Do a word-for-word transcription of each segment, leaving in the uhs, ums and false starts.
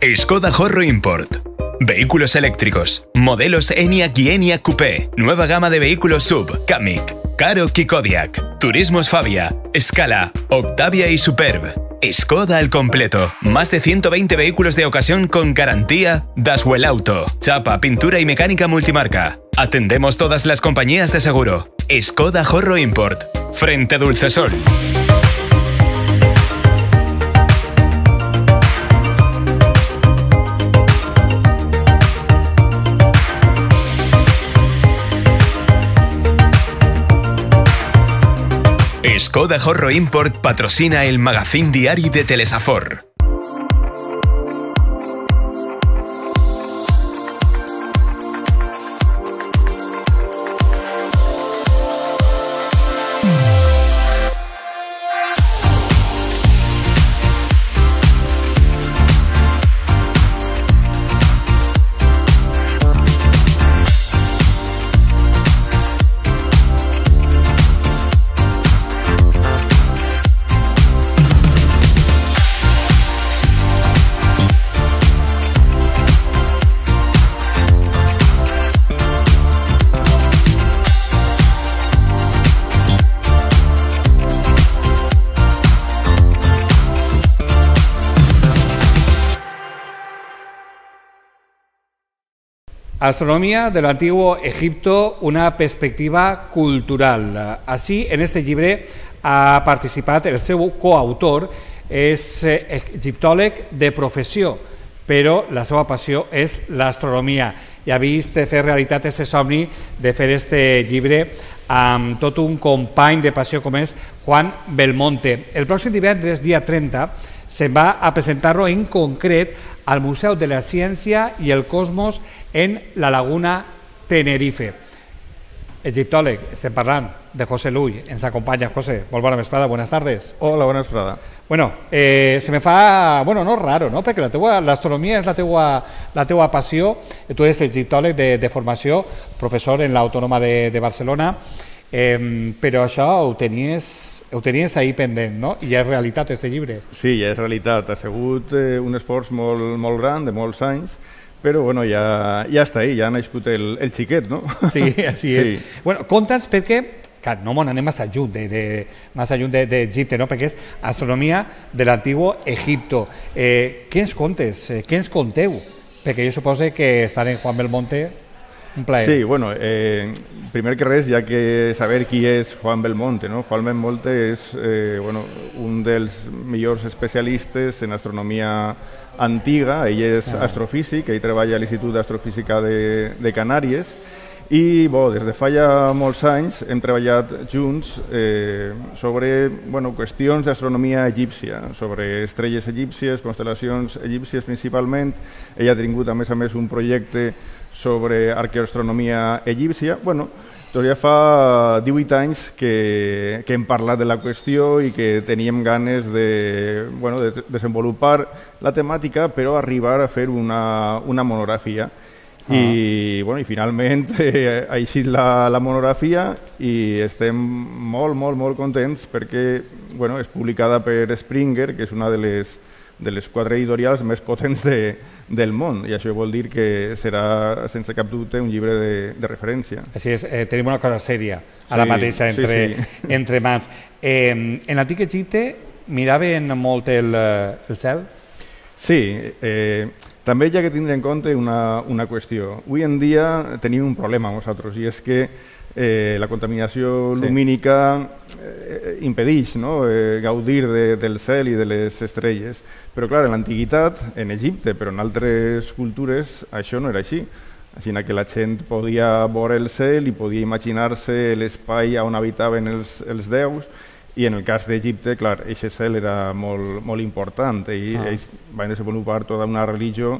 Skoda Horro Import. Vehículos eléctricos. Modelos Enyaq y Enyaq Coupé. Nueva gama de vehículos sub. Kamiq, Karoq y Kodiaq. Turismos Fabia, Scala, Octavia y Superb. Skoda al completo. Más de ciento veinte vehículos de ocasión con garantía Daswell Auto. Chapa, pintura y mecánica multimarca. Atendemos todas las compañías de seguro. Skoda Horro Import. Frente Dulcesol. Skoda Horro Import patrocina el magazín diari de Telesafor. Astronomía del Antiguo Egipto, una perspectiva cultural. Así, en este llibre ha participat el seu coautor, és egiptòleg de professió, però la seva passió és l'astronomia i ha vist fer realitat aquest somni de fer este llibre amb tot un company de passió com és Juan Belmonte. El pròxim divendres, dia trenta, se'n va a presentar-lo en concret al Museu de la Ciència i el Cosmos en la Laguna Tenerife. Egiptòleg, estem parlant de José Lull, ens acompanya. José, molt bona vesprada, buenas tardes. Hola, bona vesprada. Bueno, eh, se me fa, bueno, no raro, no? Perquè l'astronomia és la teua, la teua passió, tu eres egiptòleg de, de formació, professor en l'Autònoma de, de Barcelona, eh, però això ho tenies... Ho tenies ahir pendent, no? I ja és realitat, este llibre. Sí, ja és realitat. Ha sigut eh, un esforç molt, molt gran, de molts anys, però bueno, ja, ja està ahí, ja ha nascut el, el xiquet, no? Sí, així és. Sí. Bueno, conta'ns perquè, que no m'ho anem massa lluny de, de, massa lluny d'Egipte, no? Perquè és astronomia de l'Antiguo Egipto. Eh, què ens contes? Eh, què ens conteu? Perquè jo suposo que estar en Juan Belmonte... Un plaer. Sí, bueno, eh, primer que res, hi ha que saber qui és Juan Belmonte, no? Juan Belmonte és eh, bueno, un dels millors especialistes en astronomia antiga, ell és ah. astrofísic, ell treballa a l'Institut d'Astrofísica de, de Canàries, i bo, des de fa ja molts anys hem treballat junts eh, sobre bueno, qüestions d'astronomia egípcia, sobre estrelles egípcies, constel·lacions egípcies principalment. Ell ha tingut a més a més un projecte sobre arqueoastronomia egípcia. Bueno, doncs ja fa divuit anys que, que hem parlat de la qüestió i que teníem ganes de, bueno, de desenvolupar la temàtica, però arribar a fer una, una monografia. Ah. I, bueno, i finalment eh, ha eixit la, la monografia i estem molt, molt, molt contents perquè bueno, és publicada per Springer, que és una de les, de les quatre editorials més potents de, del món, i això vol dir que serà, sense cap dubte, un llibre de, de referència. Així és, eh, tenim una cosa sèria ara sí, mateixa entre, sí, sí. entre mans. Eh, en l'antic Egipte miraven molt el, el cel? Sí, eh, també hi ha que tindre en compte una, una qüestió. Avui en dia tenim un problema nosaltres, i és que eh, la contaminació sí. lumínica eh, impedeix no? eh, gaudir de, del cel i de les estrelles. Però clar, en l'antiguitat, en Egipte, però en altres cultures, això no era així. Així que la gent podia veure el cel i podia imaginar-se l'espai on habitaven els, els déus. I en el cas d'Egipte, clar, aquest cel era molt, molt important i ah. ells van desenvolupar tota una religió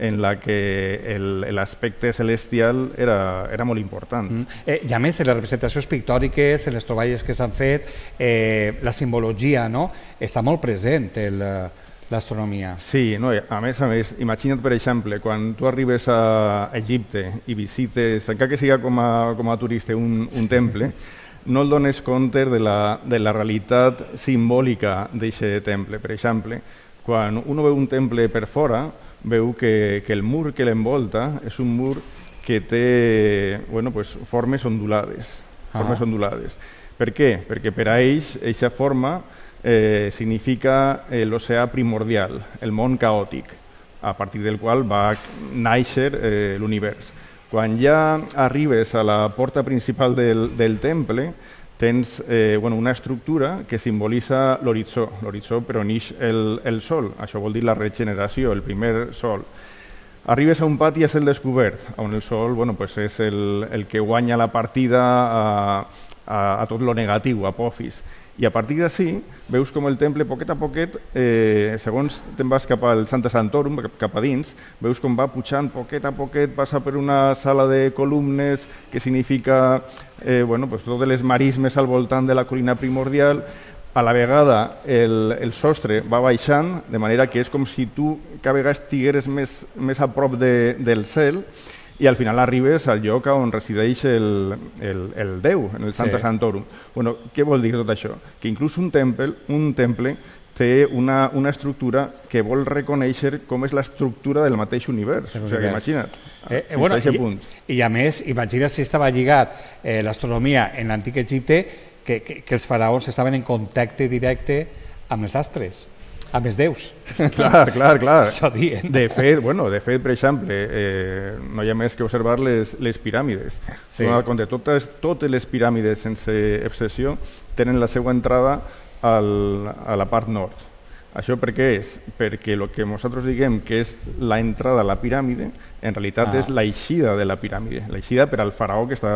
en la que l'aspecte celestial era, era molt important. Mm. Eh, I a més, en les representacions pictòriques, en les troballes que s'han fet, eh, la simbologia no? està molt present en l'astronomia. Sí, no? a més a més, imagina't, per exemple, quan tu arribes a Egipte i visites, encara que sigui com a, com a turista, un, un sí. temple, no et dones compte de la, de la realitat simbòlica d'aquest temple. Per exemple, quan un veu un temple per fora, veu que, que el mur que l'envolta és un mur que té bueno, pues, formes ondulades. Ah. Formes ondulades. Per què? Perquè per a ells, aquesta forma eh, significa eh, l'oceà primordial, el món caòtic, a partir del qual va néixer eh, l'univers. Quan ja arribes a la porta principal del, del temple, tens eh, bueno, una estructura que simbolitza l'horitzó, l'horitzó per on ix el, el sol, això vol dir la regeneració, el primer sol. Arribes a un pati a cel descobert, on el sol bueno, pues és el, el que guanya la partida a, a, a tot lo negatiu, a Apophis. I a partir d'ací veus com el temple, poquet a poquet, eh, segons te'n vas cap al Sancta Sanctorum, cap a dins, veus com va pujant poquet a poquet, passa per una sala de columnes que significa eh, bueno, pues, totes les marismes al voltant de la colina primordial. A la vegada el, el sostre va baixant, de manera que és com si tu cada vegada estigueres més, més a prop de, del cel i al final arribes al lloc on resideix el, el, el Déu, en el Sancta sí. Sanctorum. Bueno, què vol dir tot això? Que inclús un temple, un temple té una, una estructura que vol reconèixer com és l'estructura del mateix univers. O sigui, imagina't, eh, eh, bueno, i, punt. I a més, imagina si estava lligat eh, l'astronomia en l'antic Egipte, Que, que, que els faraons estaven en contacte directe amb els astres, amb els déus. Clar, clar, clar. Això dient. De fet, bueno, de fet, per exemple, eh, no hi ha més que observar les, les piràmides. Sí. Compte, totes, totes les piràmides, sense excepció, tenen la seva entrada al, a la part nord. Això per què és? Perquè el que nosaltres diguem que és la entrada a la piràmide, en realitat ah. és l'eixida de la piràmide, l'eixida per al faraó que està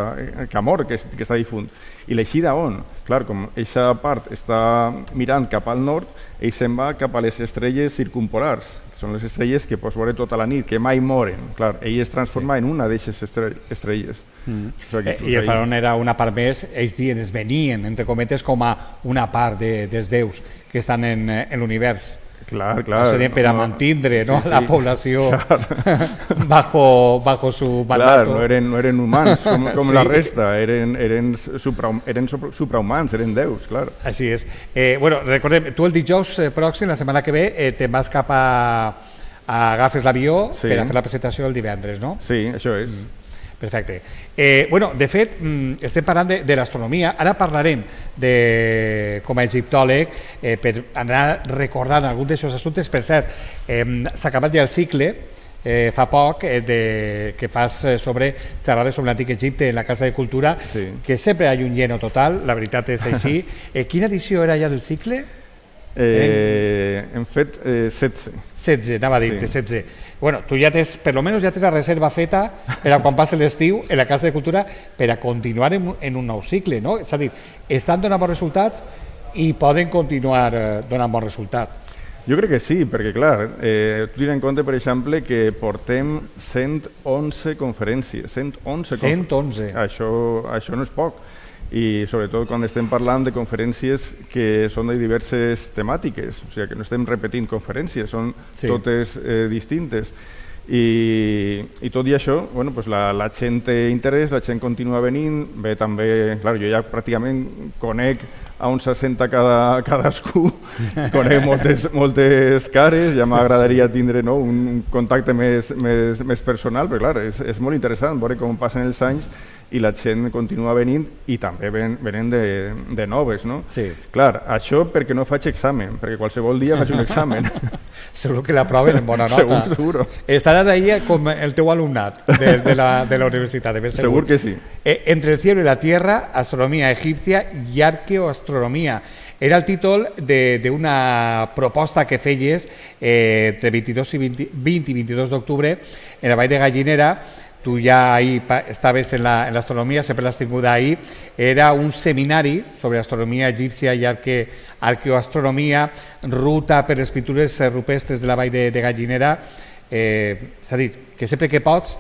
que ha mort, que, que està difunt. I l'eixida on? Clar, com aquesta part està mirant cap al nord, ell se'n va cap a les estrelles circumpolars, que són les estrelles que pots veure tota la nit, que mai moren. Clar, ell es transforma sí. en una d'aquestes estrelles. Mm. O sigui, eh, I el faraó era una part més, ells dien, es venien, entre cometes, com a una part de, dels déus que estan en, en l'univers. Clar, clar. Això dient per a mantindre no, sí, sí. la població bajo, bajo su mandato. Clar, no eren, no eren humans com, com sí. la resta, eren, eren, supra, eren suprahumans, eren déus, clar. Així és. Eh, bueno, recordem, tu el dijous pròxim, la setmana que ve, eh, te'n vas cap a, a agafes l'avió sí. per a fer la presentació el divendres, no? Sí, això és. Mm. Perfecte. Eh, bueno, de fet, estem parlant de, de l'astronomia. Ara parlarem de, com a egiptòleg, eh, per anar recordant alguns d'aquests assumptes. Per cert, eh, s'ha acabat ja el cicle, eh, fa poc, eh, de, que fas sobre xerrades sobre l'antic Egipte en la Casa de Cultura, sí. que sempre hi ha un lleno total, la veritat és així. Eh, quina edició era ja del cicle? Eh, hem fet eh, setze. setze, anava a dir-te, sí. setze. Bueno, tu ja tens, per lo menos ja tens la reserva feta per a quan passi l'estiu en la Casa de Cultura per a continuar en, en un nou cicle, no? És a dir, estan donant bons resultats i poden continuar eh, donant bons resultats. Jo crec que sí, perquè clar, eh, tu tens en compte, per exemple, que portem cent onze conferències. cent onze. cent onze. Això, això no és poc. I sobretot quan estem parlant de conferències que són de diverses temàtiques, o sigui que no estem repetint conferències, són sí. totes eh, distintes. I, i tot i això, bueno, pues la, la gent té interès, la gent continua venint, bé també, clar, jo ja pràcticament conec a on s'assenta cada, cadascú, conec moltes, moltes cares, ja m'agradaria tindre no, un contacte més, més, més personal, però clar, és, és molt interessant veure com passen els anys i la gent continua venint i també ven, venen de, de noves, no? Sí. Clar, això perquè no faig examen, perquè qualsevol dia faig un examen. Segur que l'aproven en bona nota. Segur, seguro. Estaràs ahí com el teu alumnat de, de, la, de la universitat, de ben segur. Segur que sí. Eh, Entre el cielo y la tierra, astronomía egipcia i arqueoastronomia. Era el títol d'una proposta que feies eh, entre vint-i-dos i vint, vint i vint-i-dos d'octubre en la Vall de Gallinera. Tu ja ahí estaves en l'astronomia, la, sempre l'has tinguda ahí. Era un seminari sobre astronomia egípcia i arque, arqueoastronomia, ruta per les pintures rupestres de la Vall de, de Gallinera. Eh, és a dir, que sempre que pots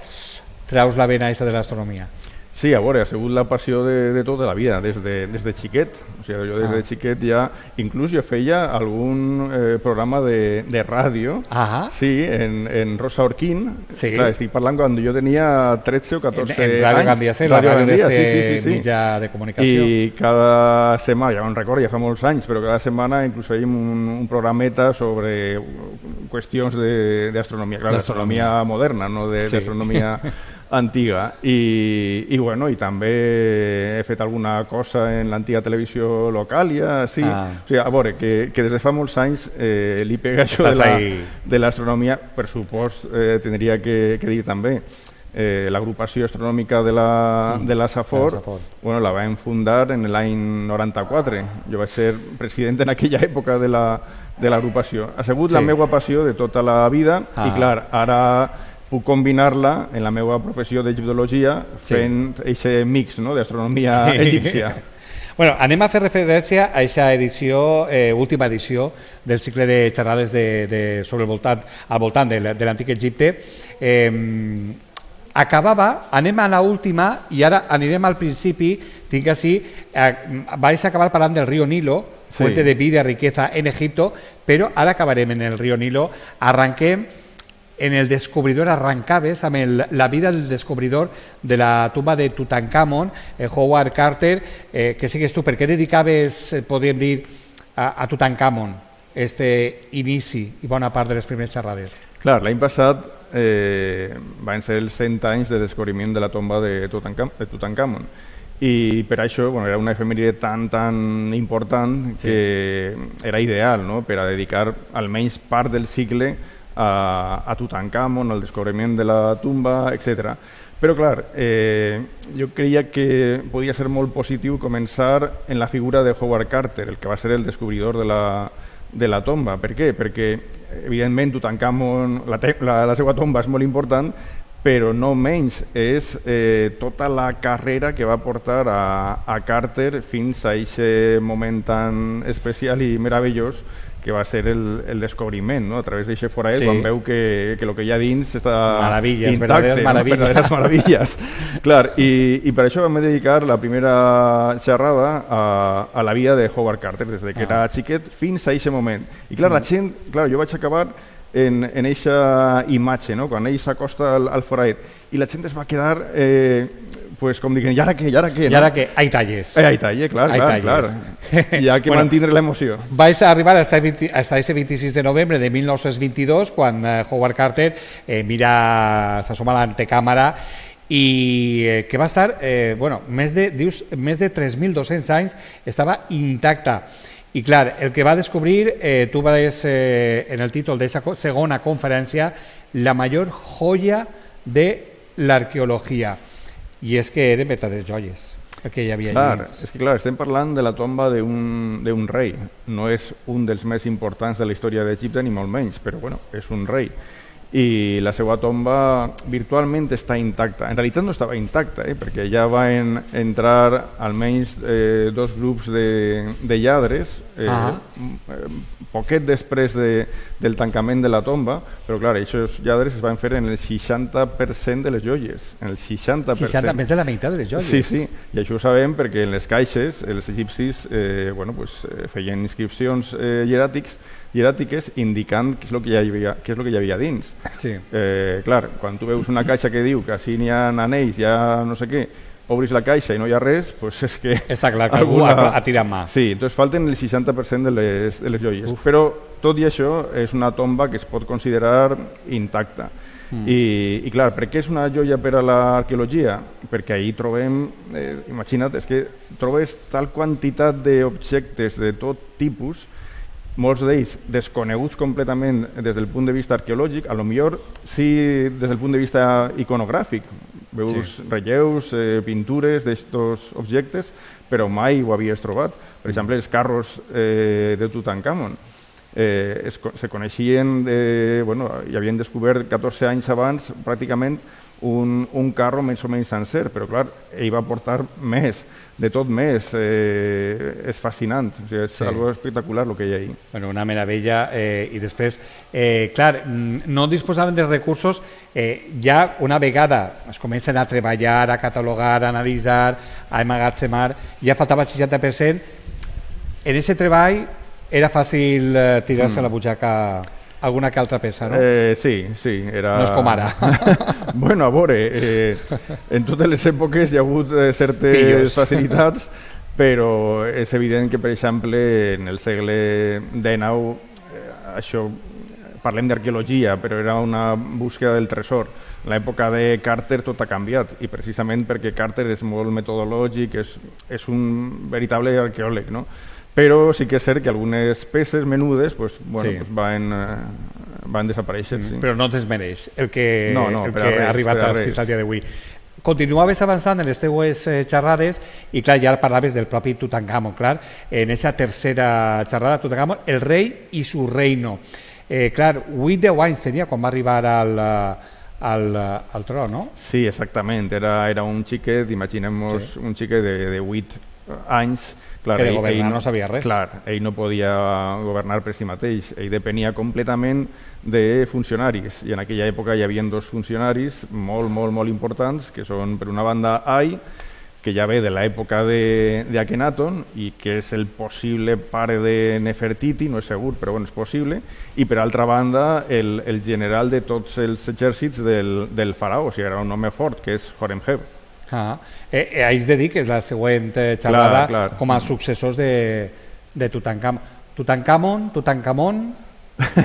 traus la vena aquesta de l'astronomia. Sí, a veure, ha sigut la passió de, de tota la vida, des de, des de xiquet. O sigui, jo des de xiquet ja, inclús jo feia algun eh, programa de, de ràdio, ah sí, en, en Rosa Orquín. Sí. Clar, estic parlant quan jo tenia tretze o catorze en, en Radio Gandia, sí, la ràdio d'este sí, sí, sí, sí. mitjà de comunicació. I cada setmana, ja no recordo, ja fa molts anys, però cada setmana inclús fèiem un, un programeta sobre qüestions d'astronomia, clar, d'astronomia moderna, no d'astronomia antiga. I, i, bueno, i també he fet alguna cosa en l'antiga televisió local, ja, sí. Ah. O sigui, a veure, que, que des de fa molts anys eh, li pega això de l'astronomia, per supost, eh, tindria que, que dir també. Eh, l'agrupació astronòmica de la, de la Safor, bueno, la vam fundar en l'any noranta-quatre. Jo vaig ser president en aquella època de l'agrupació. Ha sigut sí. la meva passió de tota la vida ah. i, clar, ara puc combinar-la en la meva professió d'egiptologia sí. fent aquest mix, no?, d'astronomia sí. egípcia. Bueno, anem a fer referència a aquesta edició, eh, última edició del cicle de xerrades de, de, sobre el voltant, al voltant de, de l'antic Egipte. Eh, acabava, anem a l'última i ara anirem al principi, tinc així, eh, vais acabar parlant del riu Nilo, fuente sí. de vida, riqueza en Egipto, però ara acabarem en el riu Nilo. Arranquem en el descobridor, arrancaves amb el, la vida del descobridor de la tumba de Tutankamon, eh, Howard Carter, eh, que sigues tu, per què dedicaves, eh, podríem dir, a, a Tutankamon, este inici i bona part de les primeres xerrades? Clar, l'any passat eh, van ser els cent anys de descobriment de la tomba de Tutankamon. I per això, bueno, era una efemèride tan, tan important sí. que era ideal, no?, per a dedicar almenys part del cicle a, a Tutankamon, al descobriment de la tumba, etcètera. Però, clar, eh, jo creia que podia ser molt positiu començar en la figura de Howard Carter, el que va ser el descobridor de la, de la tomba. Per què? Perquè, evidentment, Tutankamon, la, la, la seva tomba és molt important, però no menys és eh, tota la carrera que va portar a, a Carter fins a aquest moment tan especial i meravellós que va ser el, el descobriment, no?, a través d'aquest forat, sí. quan veu que, que el que hi ha dins està maravilles, intacte, verdaderes maravilles. No? Verdaderes maravilles. Clar, i, i per això vam dedicar la primera xerrada a, a la vida de Howard Carter, des de que ah. era xiquet fins a aquest moment. I clar, la gent, clar, jo vaig acabar en aquesta imatge, no?, quan ell s'acosta al, al forat, i la gent es va quedar... Eh, pues com diguem, i ara què, i ara què? I ara què? Ai talles. Eh, ai talles, clar, clar, clar. Hi ha que bueno, mantindre l'emoció. Vais a arribar hasta ese vint-i-sis de novembre de mil nou-cents vint-i-dos, quan eh, Howard Carter eh, mira, s'assoma a l'antecàmera i eh, que va estar, eh, bueno, més de, dius, més de tres mil dos-cents anys, estava intacta. I clar, el que va descobrir, eh, tu vas eh, en el títol d'aquesta segona conferència, la major joia de l'arqueologia. I és que eren verdaderes joies, el que hi havia clar, allà. És que clar, estem parlant de la tomba d'un rei. No és un dels més importants de la història d'Egipte, ni molt menys, però bueno, és un rei. I la seva tomba virtualment està intacta. En realitat no estava intacta, eh, perquè ja van entrar almenys eh, dos grups de, de lladres, eh, uh -huh. poquet després de, del tancament de la tomba, però clar, aquests lladres es van fer en el seixanta per cent de les joies. En el seixanta per cent. seixanta, més de la meitat de les joies. Sí, sí, i això ho sabem perquè en les caixes els egipcis eh, bueno, pues, eh, feien inscripcions eh, hieràtics hieràtiques indicant què és el que hi havia, què és el que hi havia dins. Sí. Eh, clar, quan tu veus una caixa que diu que així n'hi ha anells, hi ha no sé què, obris la caixa i no hi ha res, doncs és que... Està clar que algú ha, ha tirat mà. Sí, doncs falten el seixanta per cent de les, de les joies. Uf. Però tot i això és una tomba que es pot considerar intacta. Mm. I, I clar, per què és una joia per a l'arqueologia? Perquè ahir trobem, eh, imagina't, és que trobes tal quantitat d'objectes de tot tipus, molts d'ells desconeguts completament des del punt de vista arqueològic, a lo millor sí des del punt de vista iconogràfic, veus sí. relleus, eh, pintures d'estos objectes, però mai ho havies trobat. Per exemple, els carros eh, de Tutankamon eh, es, se coneixien, de, bueno, i havien descobert catorze anys abans pràcticament un, un carro més o menys sencer, però clar, ell va portar més, de tot més, eh, és fascinant, o sigui, és sí. algo espectacular el que hi ha ahí. Bueno, una meravella, eh, i després, eh, clar, no disposaven de recursos, eh, ja una vegada es comencen a treballar, a catalogar, a analitzar, a emmagatzemar, ja faltava el seixanta per cent, en aquest treball era fàcil eh, tirar-se mm. a la butxaca alguna que altra peça, no? Eh, sí, sí. Era... No és com ara. Bueno, a veure, eh, en totes les èpoques hi ha hagut eh, certes Pillos. facilitats, però és evident que, per exemple, en el segle dinou eh, això parlem d'arqueologia, però era una búsqueda del tresor. En l'època de Carter tot ha canviat, i precisament perquè Carter és molt metodològic, és, és un veritable arqueòleg, no? Però sí que és cert que algunes peces menudes pues, bueno, sí. pues van, eh, van desaparèixer. Mm, sí. Però no desmereix el que, no, no, el que res, ha arribat a l'experiència dia d'avui. Continuaves avançant en les teues xerrades i, clar, ja parlaves del propi Tutankamon, clar, en aquesta tercera xerrada, Tutankamon, el rei i su reino. Eh, clar, vuit deu anys tenia quan va arribar al, al, al tron, no? Sí, exactament. Era, era un xiquet, imaginem-nos sí. un xiquet de, de vuit anys. Clar, que de ell, governar ell, no sabia res. Clar, ell no podia governar per si mateix, ell depenia completament de funcionaris, i en aquella època hi havia dos funcionaris molt, molt, molt importants, que són, per una banda, Ai, que ja ve de l'època d'Akhenaton i que és el possible pare de Nefertiti, no és segur, però bueno, és possible, i per altra banda, el, el general de tots els exèrcits del, del faraó, o sigui, era un home fort, que és Horemheb. Ah, eh, eh, haig de dir que és la següent eh, xerrada clar, clar. com a successors de, de Tutankamon. Tutankamon, Tutankamon,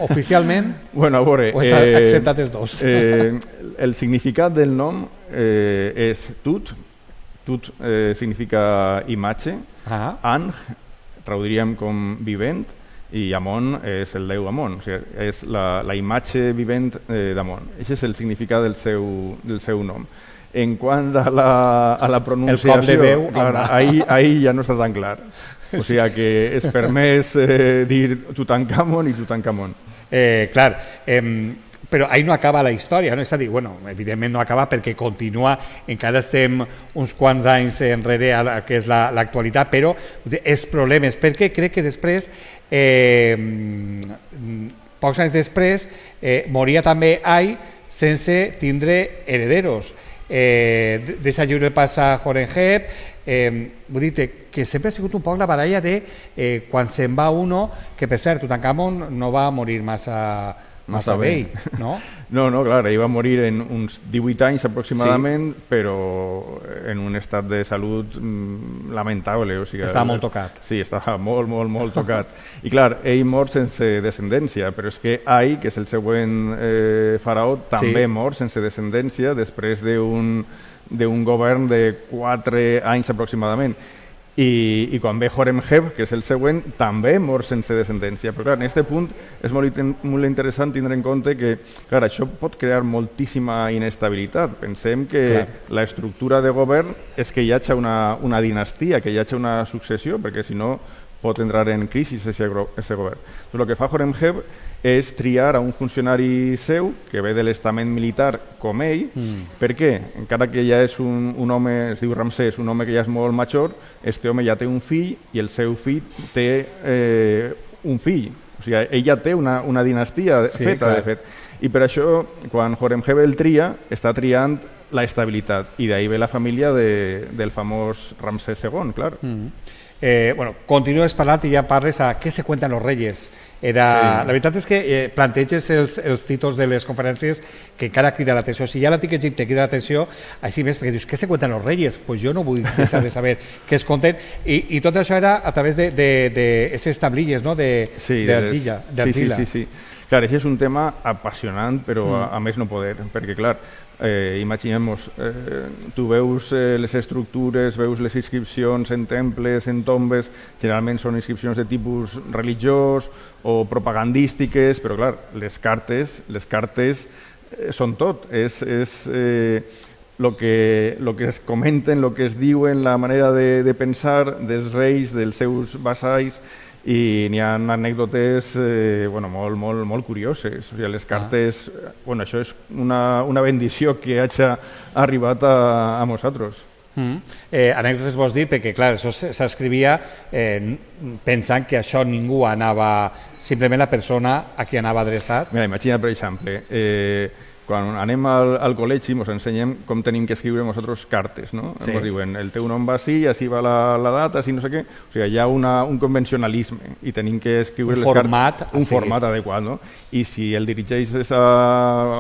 oficialment, bueno, a veure, o s'ha eh, acceptat els dos? Eh, el significat del nom eh, és Tut, Tut eh, significa imatge, ah. An, traduiríem com vivent, i Amon és el déu Amon, o sigui, és la, la imatge vivent eh, d'Amon. Aquest és el significat del seu, del seu nom. En quant a la, a la pronunciació, el cop de veu, clar, ahí, ahí ja no està tan clar. O sigui que és permès eh, dir Tutankamon i Tutankamon. Eh, clar, eh, però ahí no acaba la història, no? És a dir, bueno, evidentment no acaba perquè continua, encara estem uns quants anys enrere a la que és l'actualitat, però els problemes, perquè crec que després, eh, pocs anys després, eh, moria també Ai sense tindre herederos. Eh, deixa lliure el pas a Horemheb, eh, vull dir que sempre ha sigut un poc la baralla de eh, quan se'n va uno, que per cert, Tutankamon no va morir massa, massa vell, no? No, no, clar, ell va morir en uns divuit anys aproximadament, sí. però en un estat de salut mm, lamentable. O sigui, estava molt tocat. Sí, estava molt, molt, molt tocat. I clar, ell mor sense descendència, però és que Ai, que és el següent eh, faraó, també sí. mor sense descendència després d'un d'un govern de quatre anys aproximadament. I, i quan ve Horemheb, que és el següent, també mor sense descendència. Però clar, en aquest punt és molt, molt interessant tindre en compte que clar, això pot crear moltíssima inestabilitat. Pensem que clar. l'estructura de govern és que hi hagi una, una dinastia, que hi hagi una successió, perquè si no pot entrar en crisi aquest govern. Però el que fa Horemheb és triar a un funcionari seu que ve de l'estament militar com ell. Mm. Per què? Encara que ja és un, un home, es diu Ramsès, un home que ja és molt major, este home ja té un fill i el seu fill té eh, un fill. O sigui, ell ja té una, una dinastia sí, feta, clar. de fet. I per això, quan Horemheb el tria, està triant la estabilitat. I d'ahir ve la família de, del famós Ramsès segon, clar. Mm. Eh, bueno, continues parlant i ja parles a què se cuentan los reyes. Era, sí. La veritat és que eh, planteges els, els títols de les conferències que encara crida l'atenció. Si ja l'antic Egipte crida l'atenció, així més, perquè dius, què se cuentan los reyes? Pues jo no vull deixar de saber què es conten. I, i tot això era a través d'aquestes tablilles, no?, d'argila. Sí, sí, sí, sí. Clar, això és un tema apassionant, però mm. a, a més no poder, perquè clar, eh, imaginem-nos, eh, tu veus eh, les estructures, veus les inscripcions en temples, en tombes, generalment són inscripcions de tipus religiós o propagandístiques, però clar, les cartes, les cartes eh, són tot, és... és eh, lo que, lo que es comenten, lo que es diuen, la manera de, de pensar dels reis, dels seus vassalls, i n'hi ha anècdotes eh, bueno, molt, molt, molt curioses. O sigui, les cartes, ah. bueno, això és una, una bendició que hagi arribat a, a nosaltres. Mm. Eh, anècdotes vols dir? Perquè, clar, això s'escrivia eh, pensant que això ningú anava, simplement la persona a qui anava adreçat. Mira, imagina, per exemple, eh, quan anem al, al col·legi ens ensenyem com tenim que escriure nosaltres cartes, no? Sí. Ens diuen, el teu nom va així, així va la, la data, així no sé què. O sigui, hi ha una, un convencionalisme i tenim que escriure un les format, cartes, un format adequat, no? I si el dirigeixes a,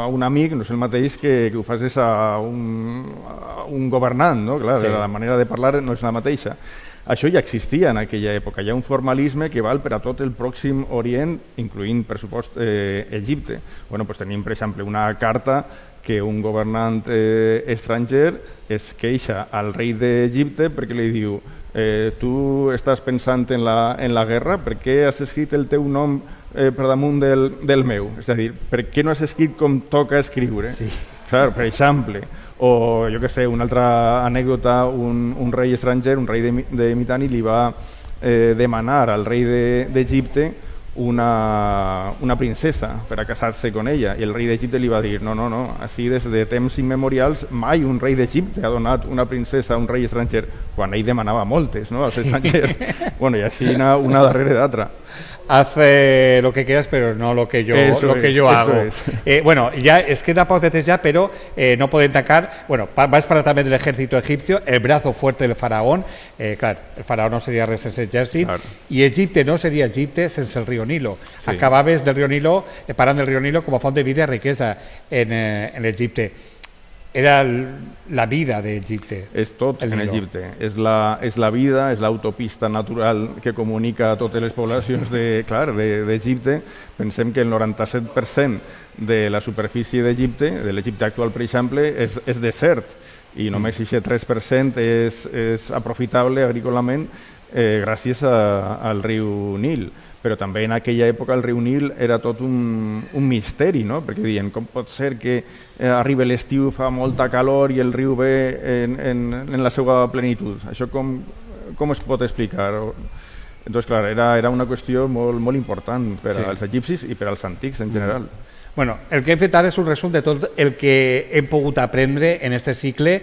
a un amic, no és el mateix que, que ho facis a un, a un governant, no? Clar, sí. La manera de parlar no és la mateixa. això ja existia en aquella època. Hi ha un formalisme que val per a tot el Pròxim Orient, incloent, per supost, eh, Egipte. Bueno, pues tenim, per exemple, una carta que un governant eh, estranger es queixa al rei d'Egipte perquè li diu eh, tu estàs pensant en la, en la guerra, per què has escrit el teu nom eh, per damunt del, del meu? És a dir, per què no has escrit com toca escriure? Sí. Clar, per exemple, o jo què sé, una altra anècdota, un, un rei estranger, un rei de, de Mitanni, li va eh, demanar al rei d'Egipte de, una, una princesa per a casar-se con ella, i el rei d'Egipte li va dir no, no, no, així des de temps immemorials mai un rei d'Egipte ha donat una princesa a un rei estranger, quan ell demanava moltes, no?, als sí. estrangers. Bueno, i així una, una darrere d'altra. Hace lo que quieras, pero no lo que yo, eso lo que es, yo hago. Es. Eh, bueno, ya es queda poc de temps ya, pero eh, no pueden tacar. Bueno, va a esperar también del ejército egipcio, el brazo fuerte del faraón. Eh, claro, el faraón no sería res sense exèrcit, claro. Y Egipte no sería Egipte sense el río Nilo. Sí. Acabaves del río Nilo, eh, parant del río Nilo como font de vida y riqueza en, eh, en Egipte. Era la vida d'Egipte. És tot en Egipte. És la, és la vida, és l'autopista natural que comunica a totes les poblacions d'Egipte. Pensem que el noranta-set per cent de la superfície d'Egipte, de l'Egipte actual, per exemple, és, és desert, i només aquest tres per cent és, és aprofitable agrícolament eh, gràcies a, al riu Nil. Però també en aquella època el riu Nil era tot un, un misteri, no? Perquè diuen, com pot ser que eh, arriba l'estiu, fa molta calor i el riu ve en, en, en la seva plenitud? Això com, com es pot explicar? Doncs, clar, era, era una qüestió molt, molt important per sí. als egipcis i per als antics en general. Bueno, el que hem fet ara és un resum de tot el que hem pogut aprendre en este cicle.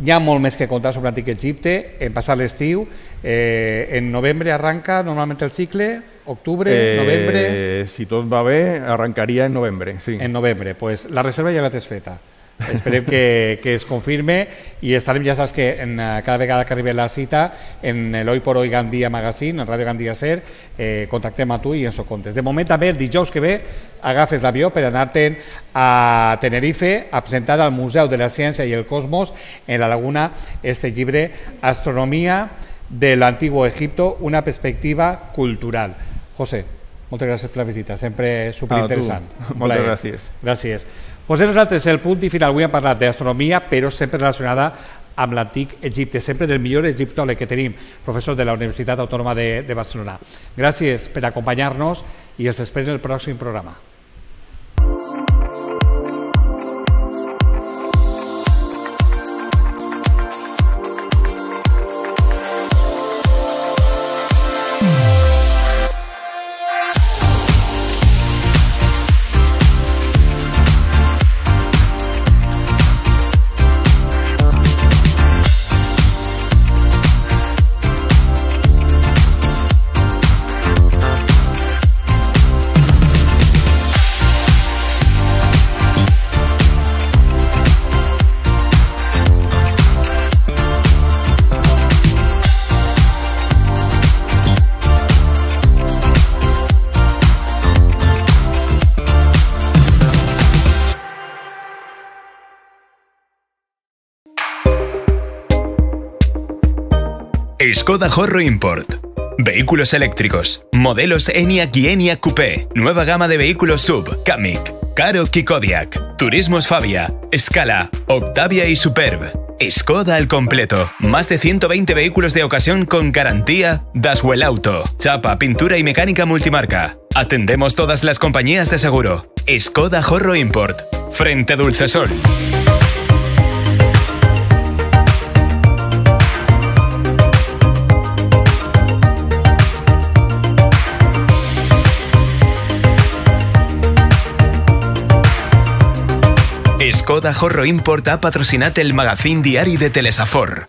Hi ha molt més que contar sobre l'antic Egipte, en passat l'estiu, eh, en novembre arranca normalment el cicle, octubre, eh, novembre... Si tot va bé, arrancaria en novembre, sí. En novembre, pues la reserva ja la tens feta. Esperem que, que es confirme i estarem, ja saps que en, cada vegada que arribi la cita en l'Hoy por Hoy Gandia Magazine, en Ràdio Gandia Ser, eh, contactem a tu i ens ho contes. De moment també el dijous que ve agafes l'avió per anar-te'n a Tenerife a presentar al Museu de la Ciència i el Cosmos en la Laguna este llibre Astronomia de l'Antiguo Egipto, una perspectiva cultural. José, moltes gràcies per la visita, sempre superinteressant. Ah, moltes gràcies. Gràcies. Pues nosaltres el punt i final. Avui hem parlat d'astronomia, però sempre relacionada amb l'antic Egipte, sempre del millor egiptòleg que tenim, professor de la Universitat Autònoma de, de Barcelona. Gràcies per acompanyar-nos i els esperem en el pròxim programa. Skoda Horro Import. Vehículos eléctricos. Modelos ENIAC y ENIAC Coupé. Nueva gama de vehículos sub. Kamiq, Karoq y Kodiaq. Turismos Fabia, Scala, Octavia y Superb. Skoda al completo. Más de ciento veinte vehículos de ocasión con garantía Daswell Auto. Chapa, pintura y mecánica multimarca. Atendemos todas las compañías de seguro. Skoda Horro Import. Frente Dulcesol. Skoda Horro Import ha patrocinat el magazín diari de Telesafor.